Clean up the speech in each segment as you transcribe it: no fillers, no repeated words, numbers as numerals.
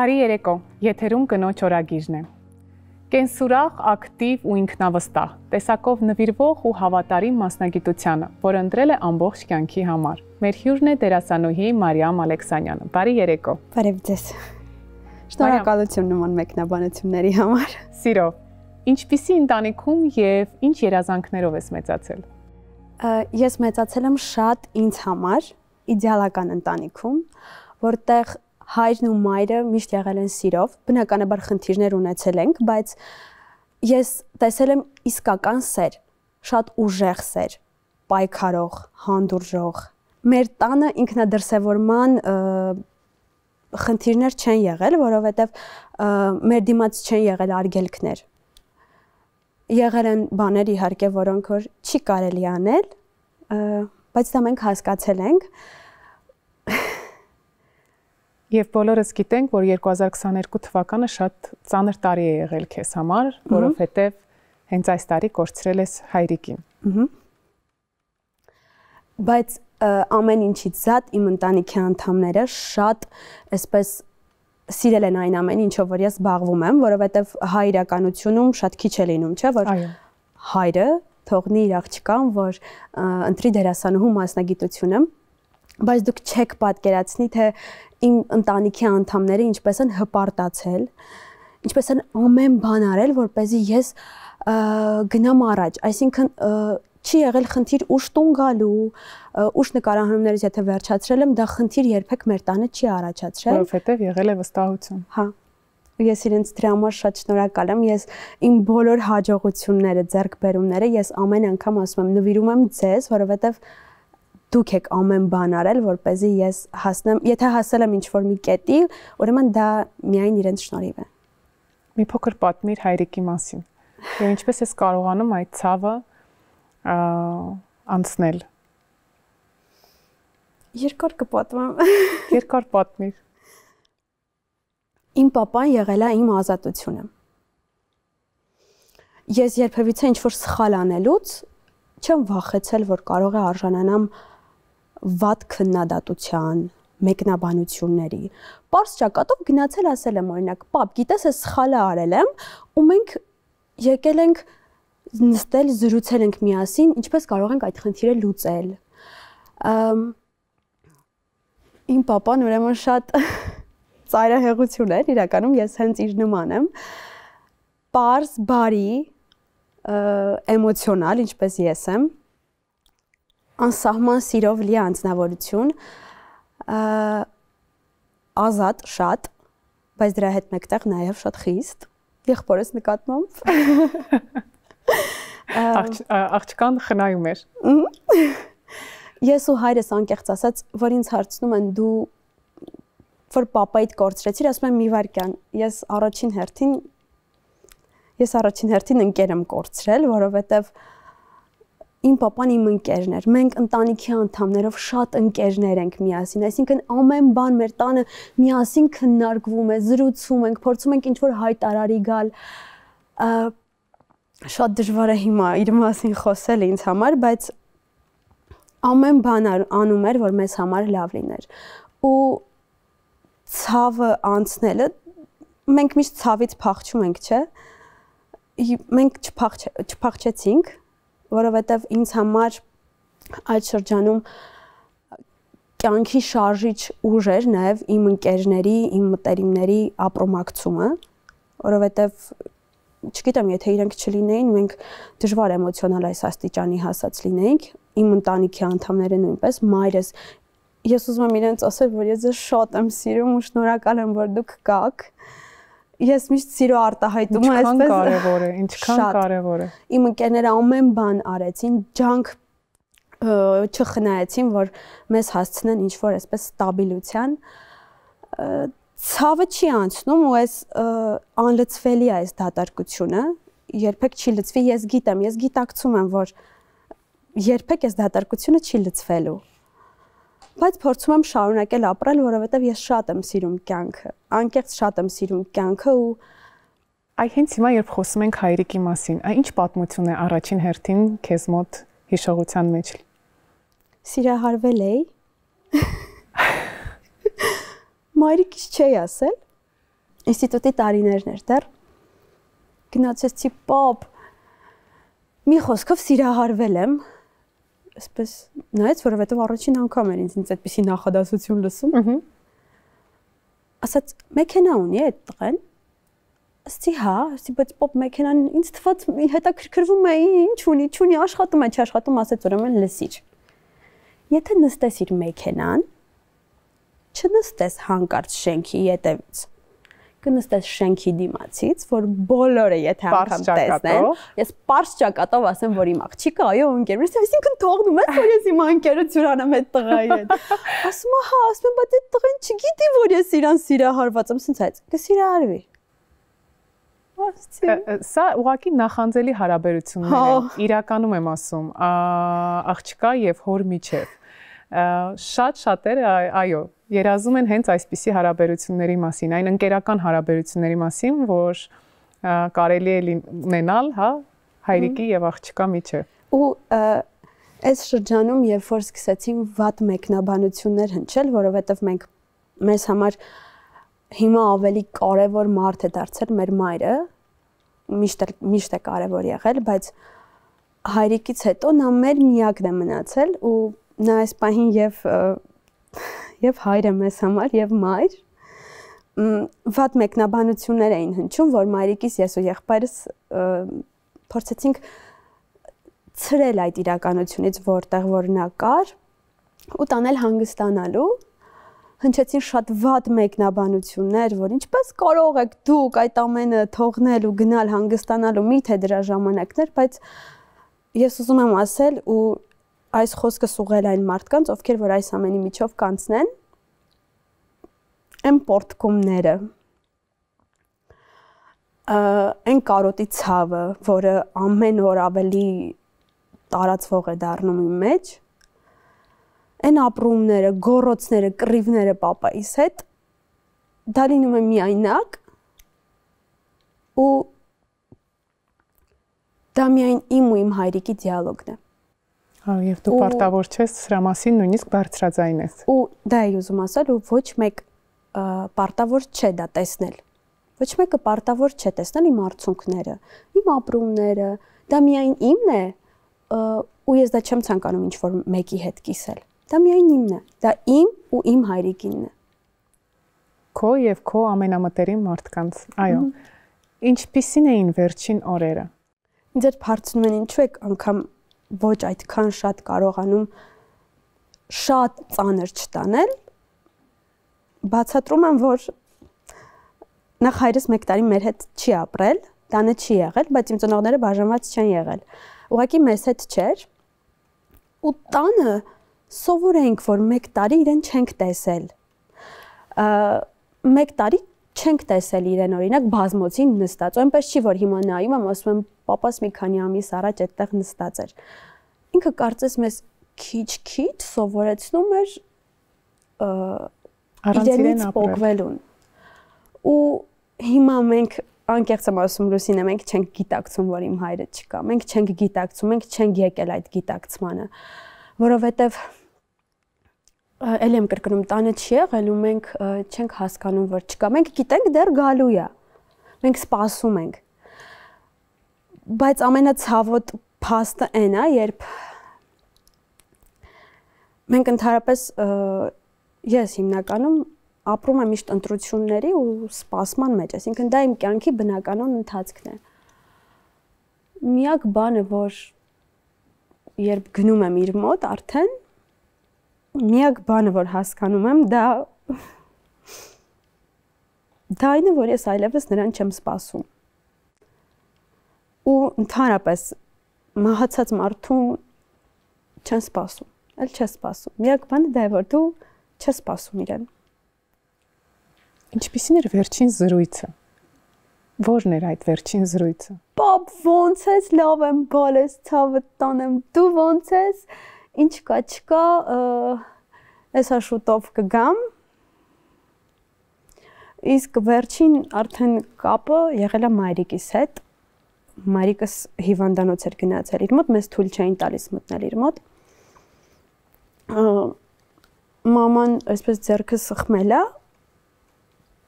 Բարի երեկո, եթերում կնոջ օրագիրն է։ Կենսուրախ, ակտիվ ու ինքնավստահ, տեսակով նվիրվող ու հավատարիմ մասնագիտությանը, որը ընտրել է ամբողջ կյանքի համար։ Մեր հյուրն է դերասանուհի Մարիամ Ալեքսանյանը։ Բարի երեկո։ Բարև ձեզ։ Շնորհակալություն նման մեկնաբանությունների համար։ Սիրով, ինչպիսի ընտանիքում եւ ինչ երազանքներով ես մեծացել։ Ես մեծացել եմ շատ ինձ համար իդեալական ընտանիքում, որտեղ հայրն ու մայրը միշտ եղել են սիրով, բնականաբար խնդիրներ ունեցել ենք, բայց ես տեսել եմ իսկական սեր, շատ ուժեղ սեր, պայքարող, հանդուրժող։ Մեր տանը ինքնադրսևորման խնդիրներ չեն եղել, որովհետև մեր դիմաց չեն եղել արգելքներ։ Եղել են բաներ իհարկե, որոնք որ չի կարելի անել, բայց դա մենք հասկացել ենք։ Եվ բոլորս գիտենք, որ 2022 թվականը շատ ծանր տարի է եղել քեզ համար, որովհետև հենց այս տարի կորցրել ես հայրիկին։ Բայց ամեն ինչից զատ իմ ընտանիքի անդամները շատ այսպես սիրել են այն ամեն ինչով, որ ես զբաղվում եմ, որովհետև հայ իրականությունում շատ քիչ է լինում, չէ՞, որ հայրը թողնի իր աղջկան, որ ընտրի դերասանուհու մասնագիտությունը, բայց դուք չեք պատկերացնի, թե իմ ընտանիքի անդամները ինչպես են հպարտացել, ինչպես են ամեն բան արել, որպեսզի ես գնամ առաջ, այսինքն չի եղել խնդիր ուշ տուն գալու, ուշ նկարահանումներից եթե վերջացրել եմ, դա խնդիր երբեք մեր տանը չի առաջացրել, որովհետև եղել է վստահություն։ Հա։ Ես իրենց դրա համար շատ շնորհակալ եմ, ես իմ բոլոր հաջողությունները, ձեռքբերումները ես ամեն անգամ ասում եմ, նվիրում եմ ձեզ, որովհետև դուք եք ամեն բան արել, որպեսզի ես հասնեմ, եթե հասել եմ ինչ-որ մի կետի, ուրեմն դա միայն իրենց շնորհիվ է։ Մի փոքր պատմիր հայրիկի մասին։ Եվ ինչպես ես կարողանում այդ ցավը անցնել։ Երկար կպատմեմ։ Երկար պատմիր։ Իմ պապան եղել է իմ ազատությունը։ Ես երբևիցե ինչ-որ սխալ անելուց չեմ վախեցել, որ կարող է արժանանամ վատ քննադատության, մեկնաբանությունների։ Պարզ ճակատով գնացել ասել եմ օրինակ, պապ, գիտես, ես սխալը արել եմ, ու մենք եկել ենք նստել, զրուցել ենք միասին, ինչպես կարող ենք այդ խնդիրը լուծել։ Իմ պապան ուրեմն շատ ծայրահեղություն էր, իրականում ես հենց իր նման եմ։ Պարզ, բարի, էմոցիոնալ, ինչպես ես եմ, անսահման սիրով լի անձնավորություն, ազատ շատ, բայց դրա հետ մեկտեղ նաև շատ խիստ, եղբորս նկատմամբ։ Աղջկան խնայում էր։ Ես ու հայրս անկեղծ ասած, որ ինձ հարցնում են դու որ պապայիդ կորցրեցիր, ասում եմ մի վայրկյան, ես առաջին հերթին ընկեր եմ կորցրել, որովհետև իմ պապան իմ ընկերն էր, մենք ընտանիքի անդամներով շատ ընկերներ ենք միասին, այսինքն ամեն բան մեր տանը միասին քննարկվում է, զրուցում ենք, փորձում ենք ինչ-որ հայտարարի գալ, շատ դժվար է հիմա իր մասին խոսել ինձ համար, բայց ամեն բան անում էր, որ մեզ համար լավ լիներ, ու ցավը անցնելը, մենք միշտ ցավից փախչում ենք, չէ՞, մենք չփախչեցինք, որովհետև ինձ համար այդ շրջանում կյանքի շարժիչ ուժ էր նաև իմ ընկերների, իմ մտերիմների ապրոմակցումը, որովհետև չգիտեմ, եթե իրենք չլինեին, մենք դժվար էմոցիոնալ այս աստիճանի հասած լինեինք, իմ ընտանիքի անդամները նույնպես, մայրս, ես ուզում եմ իրենց ասել, որ ես ձեզ շատ եմ սիրում ու շնորհակալ եմ, որ դուք կաք։ Ես միշտ սիրո արտահայտում եմ, այսպես կարևոր է, ինչքան կարևոր է։ Իմ ընկերները ամեն բան արեցին, ջանք չխնայեցին, որ մեզ հասցնեն ինչ-որ այսպես ստաբիլության։ Ցավը չի անցնում ու այս անլցվելի է այս դատարկությունը, երբեք չի լցվի, ես գիտեմ, ես գիտակցում եմ, որ երբեք այս դատարկությունը չի լցվելու։ Բայց փորձում եմ շարունակել ապրել, որովհետև ես շատ եմ սիրում կյանքը, անկեղծ շատ եմ սիրում կյանքը ու հենց հիմա երբ խոսում ենք հայրիկի մասին, ինչ պատմություն է առաջին հերթին քեզ մոտ հիշողության մեջ։ Սիրահարվել էի։ Մայրիկից չէի ասել, ինստիտուտի տարիներն էր դեռ։ Գնացեցի պապ։ Մի խոսքով սիրահարվել եմ։ Այսպես նայեց, որովհետև առաջին անգամ էր ինձ այդպիսի նախադասություն լսում։ Ասաց, մեքենա ունի այդ տղեն։ Ասեցի, հա, ասեցի, բայց պապ մեքենան ինձ թվաց հետաքրքրվում է, ինչ ունի, աշխատում է, չաշխատում, ասեց, ուրեմն լսիր։ Եթե նստես իր մեքենան, չնստես հանկարծ շենքի ետևից։ Կնստես շենքի դիմացից, որ բոլորը եթե անգամ տեսնեն, ես պարզ ճակատով ասեմ, որ իմ աղջիկը, այո, ընկերներս, այսինքն թողնում ես, որ ես իմ ընկերություն անեմ այդ տղայի հետ։ Ասում եմ, հա, ասում եմ, բայց այդ տղան չգիտի, որ ես իրան սիրահարված եմ, ասենց այդ, կսիրահարվի։ Սա ուղղակի նախանձելի հարաբերություններ են, իրականում եմ ասում, աղջկա եւ հոր միջև։ Շատ շատերը, այո, երազում են հենց այսպիսի հարաբերությունների մասին, այն ընկերական հարաբերությունների մասին, որ կարելի է ունենալ, հա, հայրիկի եւ աղջկա միջև։ Ու այս շրջանում, երբ որ սկսեցին վատ մեկնաբանություններ հնչել, որովհետեւ մենք մեզ համար հիմա ավելի կարևոր մարդ է դարձել մեր մայրը, միշտ է կարևոր եղել, բայց հայրիկից հետո նա մեր միակն է մնացել ու նա այս պահին եւ հայր է մեզ համար եւ մայր վատ մեկնաբանություններ էին հնչում, որ մայրիկիս ես ու եղբայրս փորձեցինք ցրել այդ իրականությունից, որտեղ որ նա կար ու տանել հանգստանալու հնչեցին շատ վատ մեկնաբանություններ, որ ինչպես կարող եք դուք այդ ամենը թողնել ու գնալ հանգստանալու, միթե դրա ժամանակներ, բայց ես ուզում եմ ասել ու այս խոսքս ուղղել այն մարդկանց, ովքեր որ այս ամենի միջով կանցնեն, այն պորտկումները, այն կարոտի ցավը, որը ամեն օր ավելի տարածվող է դառնում իմ մեջ, այն ապրումները, գոռոցները, կռիվները պապայիս հետ դա լինում է միայնակ ու դա միայն իմ ու իմ հայրիկի դիալոգն է։ Հա, եւ դու պարտավոր չես սրա մասին նույնիսկ բարձրաձայն ես։ Ու դա է ուզում ասել ու ոչ մեկ պարտավոր չէ դա տեսնել։ Ոչ մեկը պարտավոր չէ տեսնել իմ արցունքները, իմ ապրումները, դա միայն իմն է ու ես դա չեմ ցանկանում ինչ որ մեկի հետ կիսել։ Դա միայն իմն է, դա իմ ու իմ հայրիկինն է։ Քո եւ քո ամենամտերիմ մարդկանց, այո։ Ինչպիսին էին վերջին օրերը։ Ինձ էր հարցնում են ինչու եք անգամ ոչ այդքան շատ կարողանում շատ ծանր չտանել։ Բացատրում եմ, որ նախ հայրս 1 տարի մեր հետ չի ապրել, տանը չի եղել, բայց իմ ծնողները բաժանված չեն եղել։ Ուղղակի մեզ հետ չէր։ Ու տանը սովորենք, որ 1 տարի իրեն չենք տեսել։ 1 տարի չենք տեսել իրեն, օրինակ բազմոցին նստած, ու այնպես չի, որ հիմա նայում եմ, ասում եմ, պապաս մի քանի ամիս առաջ այդտեղ նստած էր։ Ինքը կարծես մեզ քիչ-քիչ սովորեցնում էր իրենից փոխվելուն։ Ու հիմա մենք անկեղծ եմ ասում Լուսինե, մենք չենք գիտակցում, որ իմ հայրը չկա։ Մենք չենք գիտակցում, մենք չենք եկել այդ գիտակցմանը, որովհետև էլի եմ կրկնում, տանը չի եղել ու մենք չենք հասկանում, որ չկա։ Մենք գիտենք դեռ գալու է։ Մենք սպասում ենք։ Բայց ամենացավոտ փաստը այն է, երբ մենք ընդհանրապես ես հիմնականում ապրում եմ միշտ ընտրությունների ու սպասման մեջ, այսինքն դա իմ կյանքի բնականon ընթացքն է։ Միակ բանը, որ երբ գնում եմ իր մոտ արդեն, միակ բանը, որ հասկանում եմ, դա այն է, որ ես այլևս նրան չեմ սպասում։ Ու ընդհանրապես մահացած մարդուն չեն սպասում, էլ չես սպասում։ Միակ բանը դա է, որ դու չես սպասում իրեն։ Ինչպիսին էր վերջին զրույցը։ Ո՞րն էր այդ վերջին զրույցը։ Պապ, ոնց ես, լավ եմ, բալես, ցավը տանեմ, դու ոնց ես, ինչ կա, չկա, այսա շուտով կգամ։ Իսկ վերջին արդեն կապը եղել է մայրիկիս հետ։ Մայրիկս հիվանդանոց էր գնացել իր մոտ, մեզ թույլ չէին տալիս մտնել իր մոտ։ Մաման այսպես ձեռքը սխմել է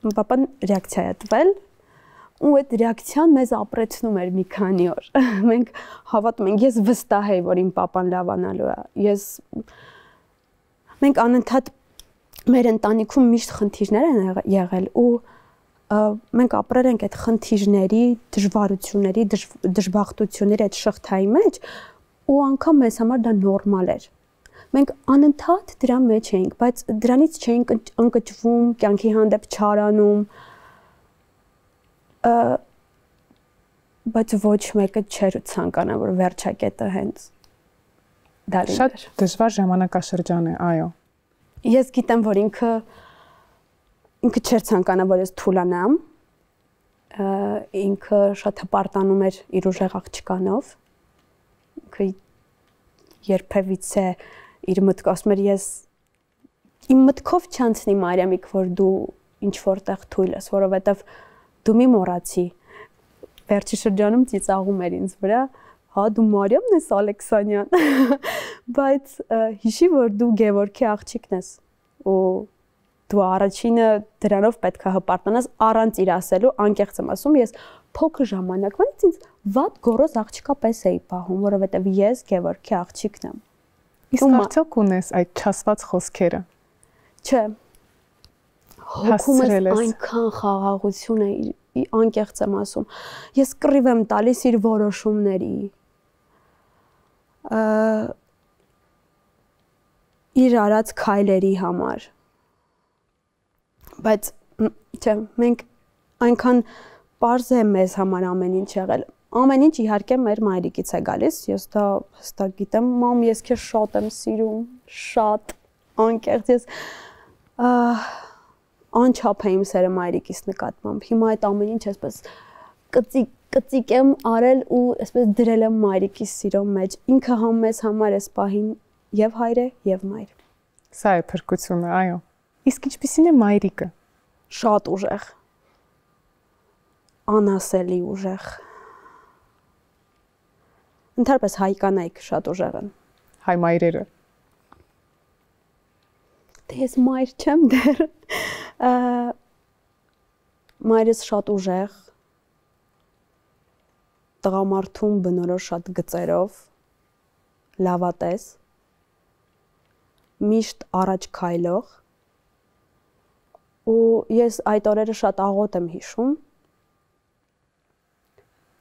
Պապան ռեակցիա է տվել ու այդ ռեակցիան մեզ ապրեցնում էր մի քանի օր։ Մենք հավատում ենք, ես վստահ եի, որ իմ պապան լավանալու է։ Մենք անընդհատ մեր ընտանիքում միշտ խնդիրներ են եղել ու մենք ապրել ենք այդ խնդիրների, դժվարությունների, դժբախտությունների այդ շղթայի մեջ ու անգամ մեզ համար դա նորմալ էր։ Մենք անընդհատ դրա մեջ էինք, բայց դրանից չէինք ընկճվում, կյանքի հանդեպ չարանում, բայց ոչ մեկը չէր ցանկանա, որ վերջակետը հենց դա լիներ։ Շատ դժվար ժամանակաշրջան է, այո։ Ես գիտեմ, որ ինքը չէր ցանկանա, որ ես թուլանամ, ինքը շատ հպարտանում էր իր ուժեղ աղջկանով, ինքը երբևիցե իր մտքով ասում էր ես իմ մտքով չանցնի Մարիամիկ, որ դու ինչ որտեղ թույլ ես, որովհետև դու մի մոռացի։ Վերջի շրջանում ծիծաղում էր ինձ վրա, հա դու Մարիամն ես Ալեքսանյան, բայց հիշի, որ դու Գևորգի աղջիկն ես ու դու առաջինը դրանով պետք է հպարտանաս առանց իր ասելու, անկեղծ եմ ասում, ես փոքր ժամանակվանից ինձ վատ գոռոզ աղջիկա պես էի պահում, որովհետև ես Գևորգի աղջիկն եմ։ Իսկ արդյոք ունես այդ չասված խոսքերը։ Չէ։ Հոգումս այնքան խաղաղություն է, անկեղծ եմ ասում։ Ես կռիվ եմ տալիս իր որոշումների։ Իր արած քայլերի համար։ Բայց չէ, մենք այնքան պարզ է մեզ համար ամեն ինչ եղել։ Ամեն ինչ իհարկե մեր մայրիկից է գալիս, ես դա հստակ գիտեմ, մամ, ես քեզ շատ եմ սիրում, շատ, անկեղծ ես անչափ է իմ սերը մայրիկից նկատմամբ։ Հիմա այդ ամեն ինչ այսպես կծիկ եմ արել ու այսպես դրել եմ մայրիկիս սիրո մեջ։ Ինքը մեզ համար էս պահին եւ հայր է եւ մայր։ Սա է փրկությունը, այո։ Իսկ ինչպիսին է մայրիկը։ Շատ ուժեղ։ Անասելի ուժեղ։ Ընդհանրապես հայ կանայք շատ ուժեղ են։ Հայ մայրերը։ Դե ես մայր չեմ դեռ։ Մայրս շատ ուժեղ։ Տղամարդուն բնորոշ շատ գծերով, լավատես, միշտ առաջ քայլող։ Ու ես այդ օրերը շատ աղոտ եմ հիշում։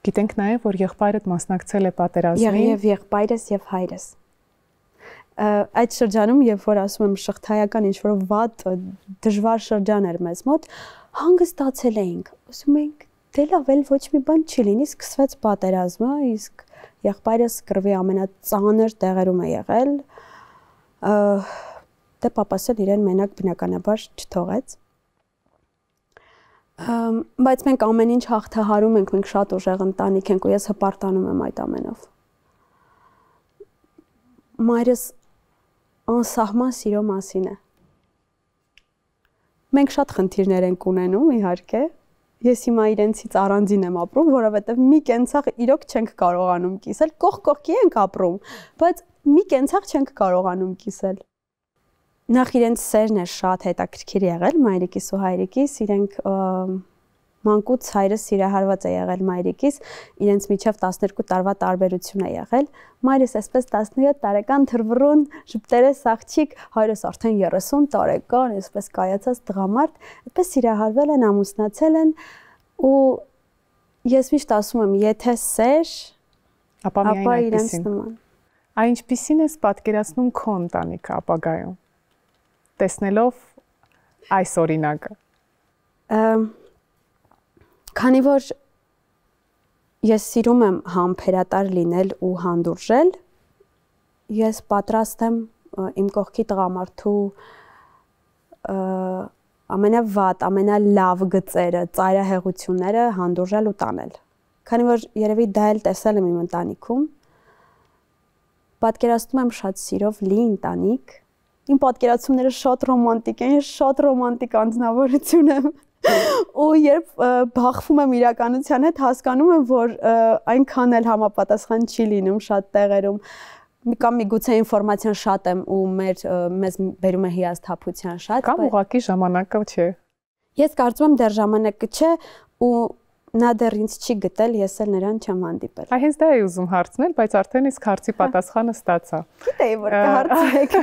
Գիտենք նաև, որ եղբայրդ մասնակցել է պատերազմին։ Եվ եղբայրս եւ հայրս։ Այդ շրջանում, երբ որ ասում եմ շղթայական ինչ-որ վատ դժվար շրջան էր մեզ մոտ, հանգստացել էինք։ Ասում ենք, դե լավ, էլ ոչ մի բան չի լինի, սկսվեց պատերազմը, իսկ եղբայրս կռվի ամենածանր տեղերում է եղել։ Դե պապաս էլ իրեն մենակ բնականաբար չթողեց։ Բայց մենք ամեն ինչ հաղթահարում ենք, մենք շատ ուժեղ ընտանիք ենք ու ես հպարտանում եմ այդ ամենով։ Մայրս անսահման սիրո մասին է։ Մենք շատ խնդիրներ ենք ունենում, իհարկե։ Ես հիմա իրենցից առանձին եմ ապրում, որովհետև մի կենցաղ իրոք չենք կարողանում կիսել, կողք-կողքի ենք ապրում, բայց մի կենցաղ չենք կարողանում կիսել։ Նախ իրենց սերն է շատ հետաքրքիր եղել մայրիկիս ու հայրիկիս, իրենք մանկուց հայրս սիրահարված է եղել մայրիկիս, իրենց միջև 12 տարվա տարբերություն է եղել։ Մայրս այսպես 17 տարեկան թռվռուն, ժպտերես աղջիկ, հայրս արդեն 30 տարեկան, այսպես կայացած տղամարդ, այդպես սիրահարվել են, ամուսնացել են ու ես միշտ ասում եմ, եթե սեր, ապա իրենց նման։ Այն ինչպիսին ես պատկերացնում քո ընտանիքը ապագայում, տեսնելով այս օրինակը։ Քանի որ ես սիրում եմ համբերատար լինել ու հանդուրժել, ես պատրաստ եմ իմ կողքի տղամարդու ամենավատ, ամենալավ գծերը, ծայրահեղությունները հանդուրժել ու տանել։ Քանի որ երևի դա էլ տեսել եմ իմ ընտանիքում, պատկերացնում եմ շատ սիրով լի ընտանիք։ Իմ պատկերացումները շատ ռոմանտիկ են, ես շատ ռոմանտիկ անձնավորություն եմ։ Ու երբ բախվում եմ իրականության հետ, հասկանում եմ, որ այնքան էլ համապատասխան չի լինում շատ տեղերում։ Կամ միգուցե ինֆորմացիան շատ եմ ու մեզ բերում է հիասթափության շատ, կամ ուղղակի ժամանակը չէ։ Ես կարծում եմ դեռ ժամանակը չէ ու նա դեռ ինձ չի գտել, ես էլ նրան չեմ հանդիպել։ Այ հենց դա էի ուզում հարցնել, բայց արդեն իսկ հարցի պատասխանը ստացա։ Գիտեի, որ կհարցնեք։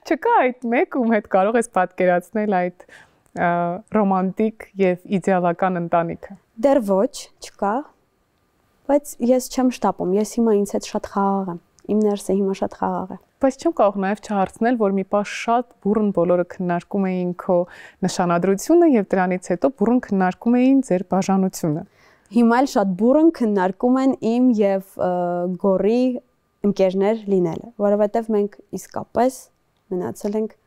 Չկա այդ մեկ, ում հետ կարող ես պատկերացնել այդ ռոմանտիկ եւ իդեալական ընտանիքը։ Դեռ ոչ, չկա, բայց ես չեմ շտապում, ես հիմա ինձ հետ շատ խաղաղ եմ։ Իմ ներսը հիմա շատ խաղաղ է։ Բայց չեմ կարող նաև չհարցնել, որ մի պահ շատ բուռն բոլորը քննարկում էին քո նշանադրությունը եւ դրանից հետո բուռն քննարկում էին ձեր բաժանությունը։ Հիմա էլ շատ բուռն քննարկում են իմ եւ Գորի ընկերներ լինելը, որովհետեւ մենք իսկապես մնացել ենք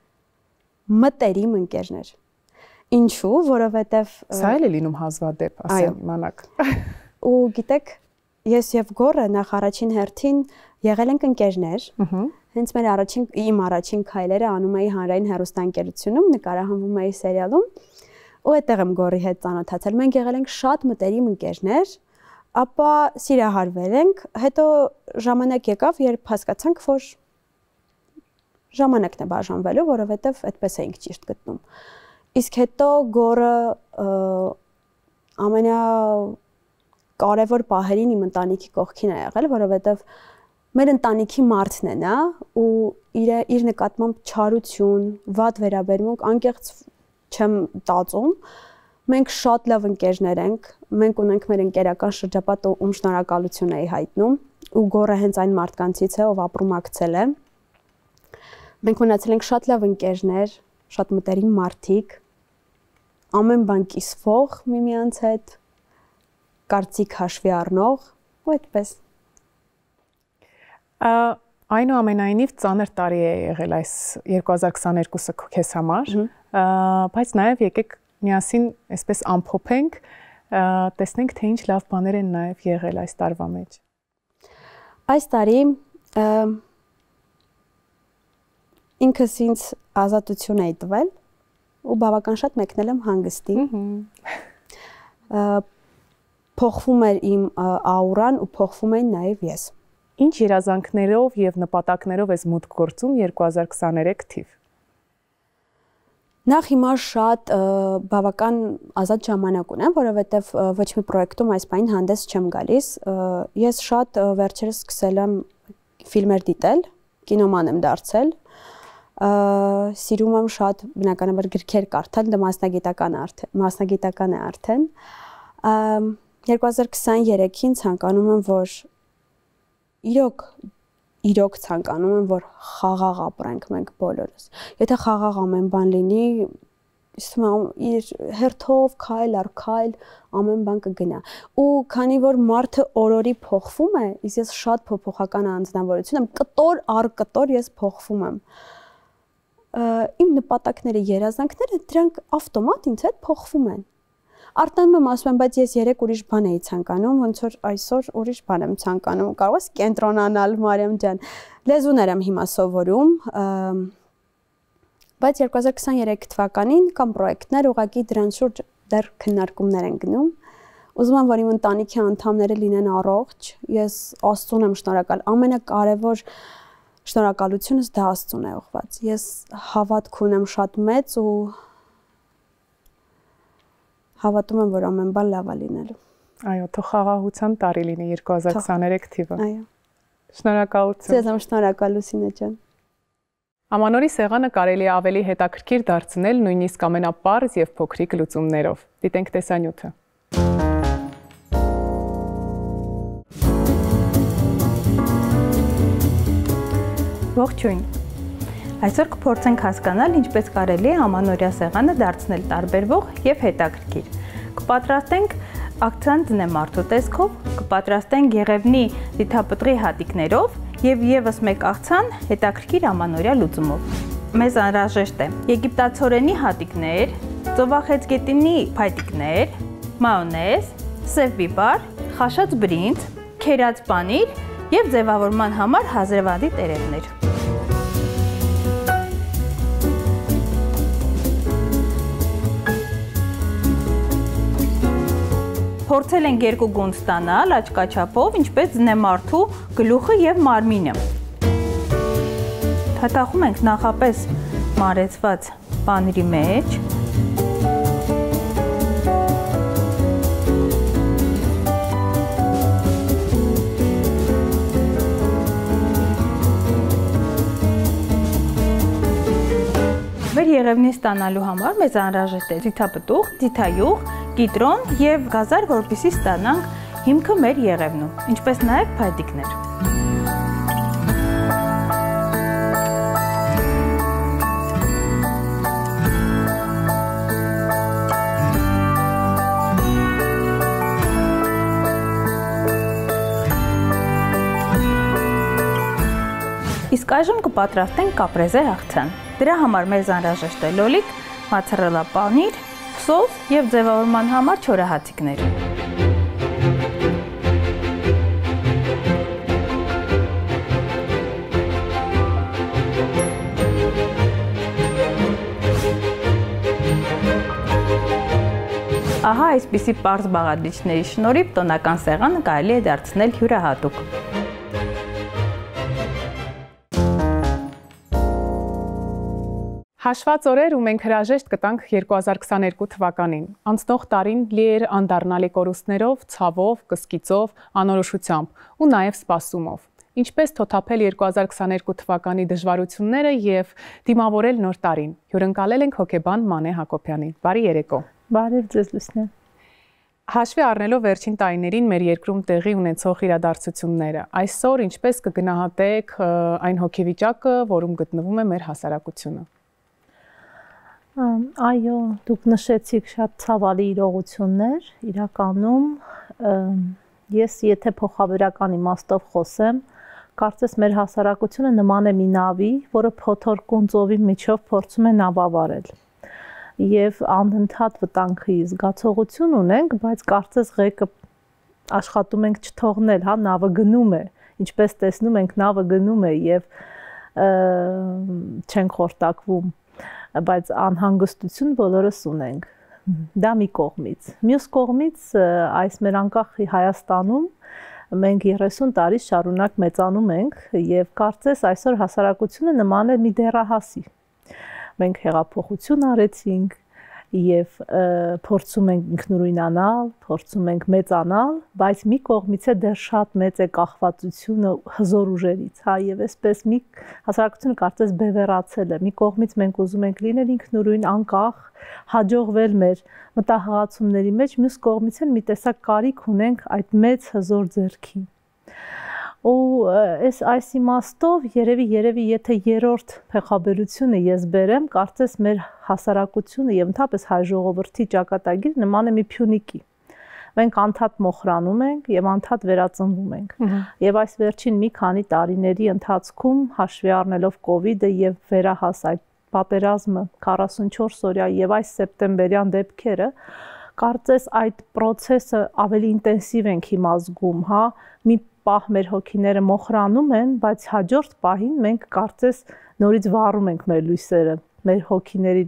մտերիմ ընկերներ։ Ինչու՞, որովհետեւ սա էլ է լինում հազվադեպ, ասեմ իմանաք։ Ու գիտեք, ես եւ Գորը նախ առաջին հերթին եղել ենք ընկերներ։ Հենց մեր իմ առաջին քայլերը անում էի հանրային հեռուստաընկերությունում, նկարահանվում էի սերիալում, ու այդտեղ եմ Գորի հետ ծանոթացել։ Մենք եղել ենք շատ մտերիմ ընկերներ, ապա սիրահարվել ենք, հետո ժամանակ եկավ, երբ հասկացանք, որ ժամանակն է բաժանվելու, որովհետև այդպես էինք ճիշտ գտնում։ Իսկ հետո Գորը ամենակարևոր պահերին իմ ընտանիքի կողքին է եղել, որովհետև մեր ընտանիքի մարդն է նա ու իր նկատմամբ չարություն, վատ վերաբերմունք անկեղծ չեմ տածում։ Մենք շատ լավ ընկերներ ենք, մենք ունենք մեր ընկերական շրջապատը, ում շնորհակալություն էի հայտնում, ու Գորը հենց այն մարդկանցից է, ով ապրումակցել է։ Մենք ունեցել ենք շատ լավ ընկերներ, շատ մտերիմ մարդիկ, ամեն բան կիսվող միմյանց հետ, կարծիք հաշվի առնող, ու այդպես։ Այնուամենայնիվ ծանր տարի է եղել այս 2022-ը քեզ համար, բայց նաև եկեք միասին այսպես ամփոփենք, տեսնենք թե ինչ լավ բաներ են նաև եղել այս տարվա մեջ։ Այս տարի ինքս ինձ ազատություն էի տվել ու բավական շատ մեկնել եմ հանգստի։ Փոխվում էր իմ աուրան ու փոխվում էին նաև ես։ Ինչ երազանքներով եւ նպատակներով ես մուտք գործում 2023 թիվ։ Նախ հիմա շատ բավական ազատ ժամանակ ունեմ, որովհետեւ ոչ մի պրոյեկտում այս բանին հանդես չեմ գալիս։ Ես շատ վերջերս սկսել եմ ֆիլմեր դիտել, կինոման եմ դարձել։ Սիրում եմ շատ բնականաբար գրքեր կարդալ, դա մասնագիտական է արդեն։ 2023-ին ցանկանում եմ, որ իրոք ցանկանում եմ, որ խաղաղ ապրենք մենք բոլորս։ Եթե խաղաղ ամեն բան լինի, իր հերթով քայլ առ քայլ ամեն բան կգնա։ Ու քանի որ մարդը օրորի փոխվում է, իսկ ես շատ փոփոխական անձնավորություն եմ, կտոր առ կտոր ես փոխվում եմ։ Իմ նպատակները, երազանքները դրանք ավտոմատ ինձ հետ փոխվում են։ Արտանում եմ ասում եմ, բայց ես երեք ուրիշ բան էի ցանկանում, ոնց որ այսօր ուրիշ բան եմ ցանկանում, կարող ես կենտրոնանալ, Մարիամ ջան։ Լեզուներ եմ հիմա սովորում, բայց 2023 թվականին կամ պրոյեկտներ ուղղակի դրանց շուրջ դեռ քննարկումներ են գնում։ Ուզում եմ, որ իմ ընտանիքի անդամները լինեն առողջ, ես Աստծուն եմ շնորհակալ, ամենակարևոր շնորհակալությունս դա Աստծուն է ուղղված։ Ես հավատք ունեմ շատ մեծ ու հավատում եմ, որ ամեն բան լավ է լինելու։ Այո, թող խաղաղության տարի լինի 2023 թիվը։ Այո։ Շնորհակալություն։ Ձեզ եմ շնորհակալ Լուսինե ջան։ Ամանորի սեղանը կարելի է ավելի հետաքրքիր դարձնել նույնիսկ ամենապարզ եւ փոքրիկ լուծումներով։ Դիտենք տեսանյութը։ Ողջույն։ Այսօր կփորձենք հասկանալ, ինչպես կարելի է ամանորյա սեղանը դարձնել տարբերվող եւ հետաքրքիր։ Կպատրաստենք ակցիան ձնեմարդու տեսքով, կպատրաստենք Եղևնի դիթապտղի հատիկներով եւ եւս մեկ աղցան հետաքրքիր ամանորյա լուծումով։ Մեզ անհրաժեշտ է եգիպտացորենի հատիկներ, ծովախեցգետինի փայտիկներ, մայոնեզ, սև բիբար, խաշած բրինձ, քերած պանիր եւ ձևավորման համար հազրևադի տերևներ։ Փորձել ենք երկու գունդ ստանալ աչքաչափով, ինչպես ձնեմարդու գլուխը եւ մարմինը։ Թաթախում ենք նախապես մարեցված պանիրի մեջ։ եղևնի ստանալու համար մեզ անհրաժեշտ է ձիթապտուղ, ձիթայուղ, կիտրոն եւ գազար, որպեսզի ստանանք հիմքը մեր եղևնու, ինչպես նաեւ փայտիկներ։ Իսկ այժմ կպատրաստենք կապրեզե հաղթան։ Դրա համար մեզ անհրաժեշտ է լոլիկ, մոցարելա պանիր, սոս եւ ձևավորման համար չորահացիկներ։ Ահա այսպիսի պարզ բաղադրիչների շնորհիվ տոնական սեղանը կարելի է դարձնել յուրահատուկ։ Հաշված օրեր ու մենք հրաժեշտ կտանք 2022 թվականին։ Անցնող տարին լի էր անդառնալի կորուստներով, ցավով, կսկիծով, անորոշությամբ ու նաև սպասումով։ Ինչպես թոթափել 2022 թվականի դժվարությունները եւ դիմավորել նոր տարին։ Հյուրընկալել ենք հոկեբան Մանե Հակոբյանին։ Բարի երեկո։ Բարև ձեզ լուսնե։ Հաշվի առնելով վերջին տարիներին մեր երկրում տեղի ունեցող իրադարձությունները, այսօր ինչպես կգնահատեք այն հոգեվիճակը, որում գտնվում է մեր հասարակությունը։ Այո, դուք նշեցիք շատ ցավալի իրողություններ, իրականում ես եթե փոխաբերական իմաստով խոսեմ, կարծես մեր հասարակությունը նման է մի նավի, որը փոթորկուն ծովի միջով փորձում է նավավարել։ Եվ անընդհատ վտանգի զգացողություն ունենք, բայց կարծես ղեկը աշխատում ենք չթողնել, հա, նավը գնում է, ինչպես տեսնում ենք, նավը գնում է եւ չենք խորտակվում, բայց անհանգստություն բոլորս ունենք։ Դա մի կողմից։ Մյուս կողմից այս մեր անկախ Հայաստանում մենք 30 տարի շարունակ մեծանում ենք եւ կարծես այսօր հասարակությունը նման է մի դեռահասի։ Մենք հեղափոխություն արեցինք եւ փորձում ենք ինքնուրույնանալ, փորձում ենք մեծանալ, բայց մի կողմից է դեռ շատ մեծ է կախվածությունը հզոր ուժերից, հա, եւ այսպես մի հասարակությունը կարծես բևեռացել է։ Մի կողմից մենք ուզում ենք լինել ինքնուրույն, անկախ, հաջողվել մեր մտահղացումների մեջ, մյուս կողմից էլ մի տեսակ կարիք ունենք այդ մեծ հզոր ձեռքին։ Ու այս իմաստով երևի եթե երրորդ փոխաբերությունը ես բերեմ, կարծես մեր հասարակությունը եւ ընդհանրապես հայ ժողովրդի ճակատագիրը նման է մի փյունիկի։ Մենք անդադ մոխրանում ենք եւ անդադ վերածնվում ենք։ Եվ այս վերջին մի քանի տարիների ընթացքում հաշվի առնելով կոവിഡ്ը եւ վերահաս այդ պատերազմը 44 օրյա եւ այս սեպտեմբերյան դեպքերը, կարծես այդ process-ը ավելի ինտենսիվ ենք հիմա զգում, հա, մի պահ մեր հոգիները մոխրանում են, բայց հաջորդ պահին մենք կարծես նորից վառում ենք մեր լույսերը, մեր հոգիների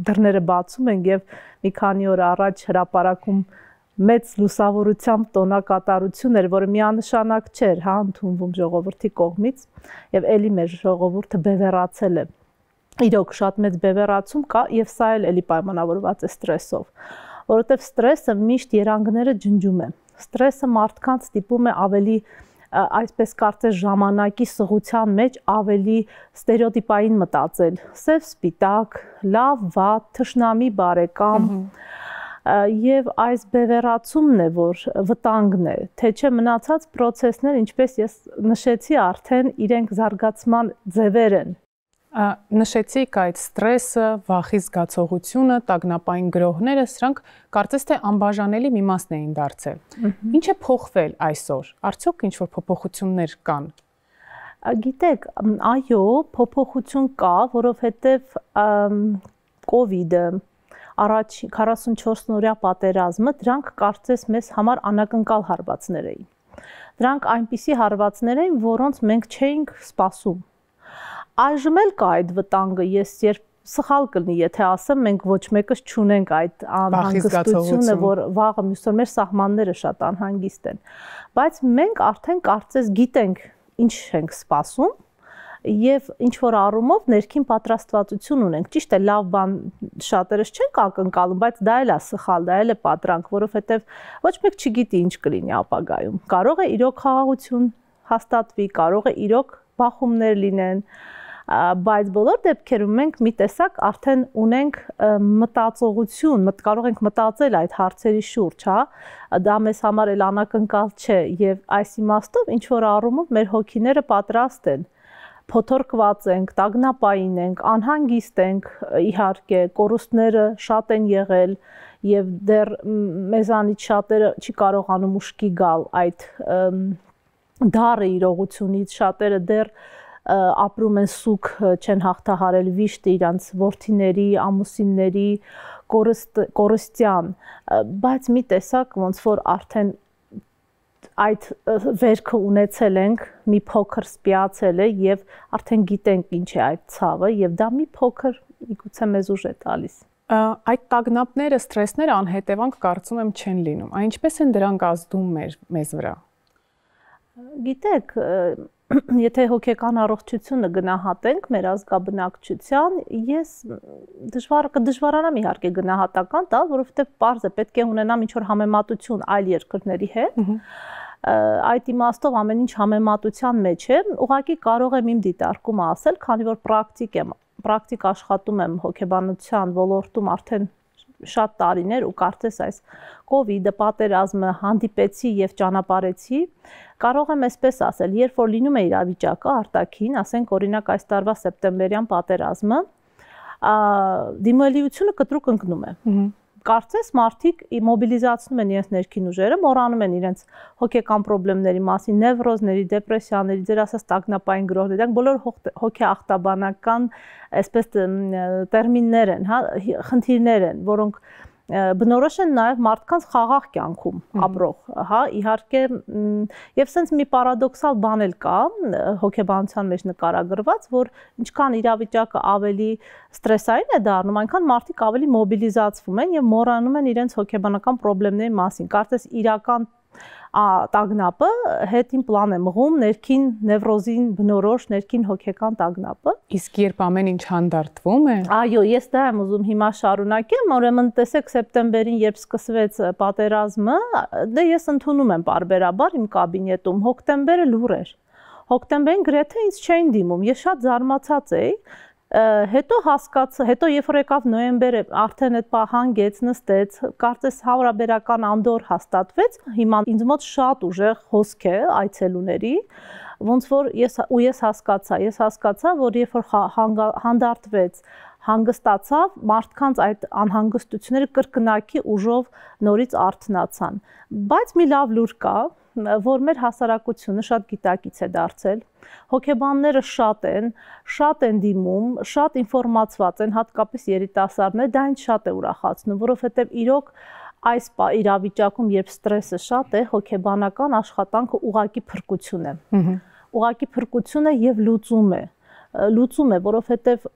դռները բացում ենք եւ մի քանի օր առաջ հրապարակում մեծ լուսավորությամբ տոնակատարություն էր, որը միանշանակ չէր, հա, ընդունվում ժողովրդի կողմից եւ ելի մեր ժողովուրդը բևեռացել է։ Իրոք շատ մեծ բևեռացում կա եւ սա էլ էլի պայմանավորված է ստրեսով, որովհետեւ ստրեսը միշտ երանգները ջնջում է։ Ստրեսը մարդկանց ստիպում է ավելի այսպես կարծես ժամանակի սղության մեջ ավելի ստերեոտիպային մտածել, սև սպիտակ, լավ, վատ, թշնամի, բարեկամ, եւ այս բևեռացումն է, որ վտանգն է, թե չէ մնացած process-ներ, ինչպես ես նշեցի, արդեն իրենք զարգացման ձևեր են։ Նշեցիք այդ ստրեսը, վախի զգացողությունը, տագնապային գրոհները, սրանք կարծես թե անբաժանելի մի մասն էին դարձել։ Ինչ է փոխվել այսօր։ Արդյոք ինչ-որ փոփոխություններ կան։ Գիտեք, այո, փոփոխություն կա, որովհետև կոവിഡ്ը, առաջ 44-օրյա պատերազմը, դրանք կարծես մեզ համար անակնկալ հարվածներ էին։ Դրանք այնպիսի հարվածներ էին, որոնց մենք չէինք սպասում։ Այժմ էլ կա այդ վտանգը, ես երբ սխալ կլինի, եթե ասեմ, մենք ոչ մեկս չունենք այդ անհանգստությունը, որ վաղը մյուսօր մեր սահմանները շատ անհանգիստ են, բայց մենք արդեն կարծես գիտենք ինչ ենք սպասում եւ ինչ որ առումով ներքին պատրաստվածություն ունենք։ Ճիշտ է, լավ բան շատերս չենք ակնկալում, բայց դա էլ է սխալ, դա էլ է պատրանք, որովհետեւ ոչ մեկ չգիտի ինչ կլինի ապագայում։ Կարող է իրոք խաղաղություն հաստատվի, կարող է իրոք բախումներ լինեն, բայց բոլոր դեպքերում մենք մի տեսակ արդեն ունենք մտածողություն, կարող ենք մտածել այդ հարցերի շուրջ, հա, դա մեզ համար էլ անակնկալ չէ եւ այս իմաստով ինչ որ առումով մեր հոգիները պատրաստ են, փոթորկված ենք, տագնապային ենք, անհանգիստ ենք, իհարկե, կորուստները շատ են եղել եւ դեռ մեզանից շատերը չի կարողանում ուշքի գալ այդ դառը իրողությունից, շատերը դեռ ապրում են սուգ, չեն հաղթահարել վիշտը իրանց որդիների, ամուսինների, կորստյան, բայց մի տեսակ ոնց որ արդեն այդ վերքը ունեցել ենք, մի փոքր սպիացել է եւ արդեն գիտենք ինչ է այդ ցավը եւ դա մի փոքր իգուցե մեզ ուժ է տալիս։ Այդ տագնապները, սթրեսները անհետևանք կարծում եմ չեն լինում։ Այն ինչպես են դրանք ազդում մեզ վրա։ Գիտեք, եթե հոգեկան առողջությունը գնահատենք մեր ազգաբնակչության, ես դժվարանամ իհարկե գնահատական տալ, որովհետեւ պարզ է պետք է ունենամ ինչ-որ համեմատություն այլ երկրների հետ։ Այդ իմաստով ամեն ինչ համեմատության մեջ է, ուղղակի կարող եմ իմ դիտարկումը ասել, քանի որ պրակտիկ աշխատում եմ հոգեբանության ոլորտում արդեն շատ տարիներ ու կարծես այս կովիդը, պատերազմը հանդիպեցի եւ ճանապարհեցի, կարող եմ այսպես ասել, երբ որ լինում է իրավիճակը արտաքին, ասենք օրինակ այս տարվա սեպտեմբերյան պատերազմը, դիմելիությունը կտրուկ ընկնում է։ Կարծես մարդիկ մոբիլիզացնում են իրենց ներքին ուժերը, մոռանում են իրենց հոգեկան խնդիրների մասին, նևրոզների, դեպրեսիաների, ձեր ասած տագնապային գրոհների, դրանք բոլոր հոգեախտաբանական այսպես տերմիններ են, հա, խնդիրներ են, որոնք բնորոշ են նաև մարդկանց խաղաղ կյանքում ապրող, հա, իհարկե, եւ սենց մի պարադոքսալ բան էլ կա հոգեբանության մեջ նկարագրված, որ ինչքան իրավիճակը ավելի ստրեսային է դառնում, այնքան մարդիկ ավելի մոբիլիզացվում են եւ մոռանում են իրենց հոգեբանական խնդիրների մասին։ Կարծես իրական տագնապը հետին պլան է մղում ներքին նևրոզին բնորոշ ներքին հոգեկան տագնապը։ Իսկ երբ ամեն ինչ հանդարտվում է։ Այո, ես դա եմ ուզում հիմա շարունակեմ, ուրեմն տեսեք սեպտեմբերին, երբ սկսվեց պատերազմը, դե ես ընդունում եմ պարբերաբար իմ կաբինետում, հոկտեմբերը լուր էր։ Հոկտեմբերին գրեթե ինձ չէին դիմում, ես շատ զարմացած էի։ Հետո հասկացա, հետո երբ որ եկավ նոյեմբերը, արդեն այդ հանգեց, նստեց, կարծես հարաբերական անդոր հաստատվեց, հիմա ինձ մոտ շատ ուժեղ հոսք է այցելուների, ոնց որ ես հասկացա, որ երբ որ հանդարտվեց, հանգստացավ, մարդկանց այդ անհանգստությունները կրկնակի ուժով նորից արթնացան, բայց մի լավ լուր կա, որ մեր հասարակությունը շատ գիտակից է դարձել, հոգեբանները շատ են դիմում, շատ ինֆորմացված են, հատկապես երիտասարդները, դա ինձ շատ է ուրախացնում, որովհետև իրոք այս իրավիճակում, երբ ստրեսը շատ է, հոգեբանական աշխատանքը ուղղակի փրկություն է։ Ուղղակի փրկություն է եւ լուծում է, որովհետև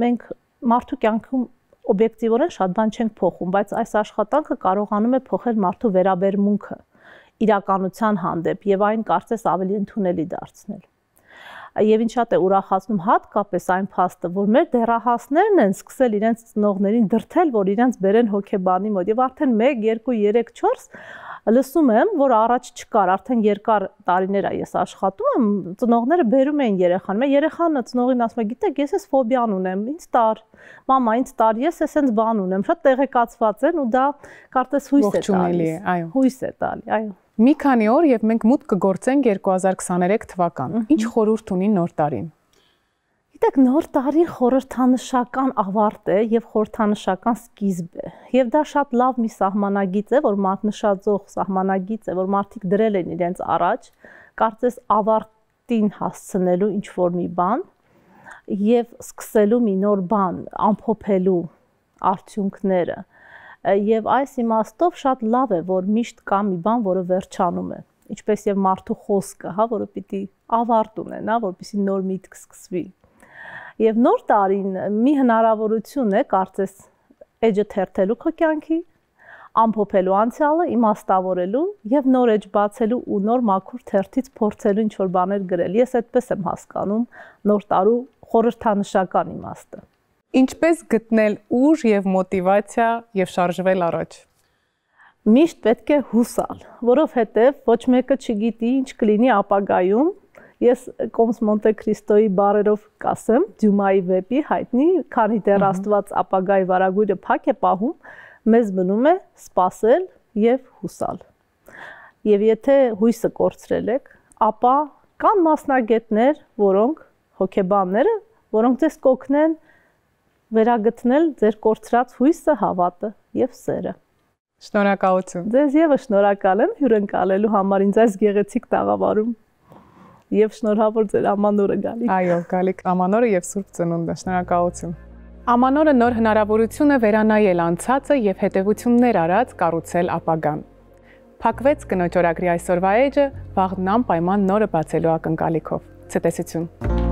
մենք մարդու կյանքում օբյեկտիվորեն շատ բան չենք փոխում, բայց այս աշխատանքը կարողանում է փոխել մարդու վերաբերմունքը իրականության հանդեպ եւ այն կարծես ավելի ընդունելի դարձնել։ Եվ ինչ շատ է ուրախացնում հատկապես այն փաստը, որ մեր դեռահասներն են սկսել իրենց ծնողներին դրթել, որ իրենց բերեն հոգեբանի մոտ եւ արդեն 1, 2, 3, 4 լսում եմ, որ առաջ չկար, արդեն երկար տարիներ է ես աշխատում եմ, ծնողները բերում էին երեխան, երեխանը ծնողին ասում է, գիտեք, ես էս ֆոբիան ունեմ, ինձ տար, մամա, ինձ տար, ես էսենց բան ունեմ, շատ տեղեկացված են ու դա կարծես հույս է տալիս, հույս է տալի, այո։ Մի քանի օր եւ մենք մուտք կգործենք 2023 թվական։ Ինչ խորհուրդ ունի նոր տարին։ Գիտեք, նոր տարին խորհրդանշական ավարտ է եւ խորհրդանշական սկիզբ է։ Եվ դա շատ լավ մի սահմանագիծ է, որ մատնշաձող սահմանագիծ է, որ մարդիկ դրել են իրենց առաջ, կարծես ավարտին հասցնելու ինչ որ մի բան եւ սկսելու մի նոր բան, ամփոփելու արդյունքները։ Եվ այս իմաստով շատ լավ է, որ միշտ կա մի բան, որը վերջանում է, ինչպես եւ մարդու խոսքը, հա, որը պիտի ավարտ ունենա, որպեսզի նոր միտք սկսվի։ Եվ նոր տարին մի հնարավորություն է, կարծես, էջը թերթելու քո կյանքի, ամփոփելու անցյալը, իմաստավորելու եւ նոր էջ բացելու ու նոր մաքուր թերթից փորձելու ինչ-որ բաներ գրել։ Ես այդպես եմ հասկանում նոր տարու խորհրդանշական իմաստը։ Ինչպես գտնել ուժ եւ մոտիվացիա եւ շարժվել առաջ։ Միշտ պետք է հուսալ, որովհետեւ ոչ մեկը չգիտի ինչ կլինի ապագայում Ես Կոմս Մոնտե Քրիստոյի բառերով կասեմ, Դյումայի վեպի հայտնի, քանի դեռ Աստված ապագայի վարագույրը փակ է պահում, մեզ մնում է սпасել եւ հուսալ։ Եվ եթե հույսը կորցրել եք, ապա կան մասնագետներ, որոնք հոգեբանները, որոնք ձեզ կօգնեն վերագտնել ձեր կորցրած հույսը, հավատը եւ սերը։ Շնորհակալություն։ Ձեզ եւս շնորհակալ եմ հյուրընկալելու համար ինձ այս գեղեցիկ տաղավարում։ Եվ շնորհավոր ձեր ամանորը Գալիկ։ Այո, Գալիկ ամանորը եւ Սուրբ Ծնունդը, շնորհակալություն։ Ամանորը նոր հնարավորություն է վերանայել անցածը եւ հետեւություններ արած կառուցել ապագան։ Փակվեց կնոջ օրագրի այսօրվա էջը, վաղն անպայման նորը բացելու ակնկալիքով։ Ցտեսություն։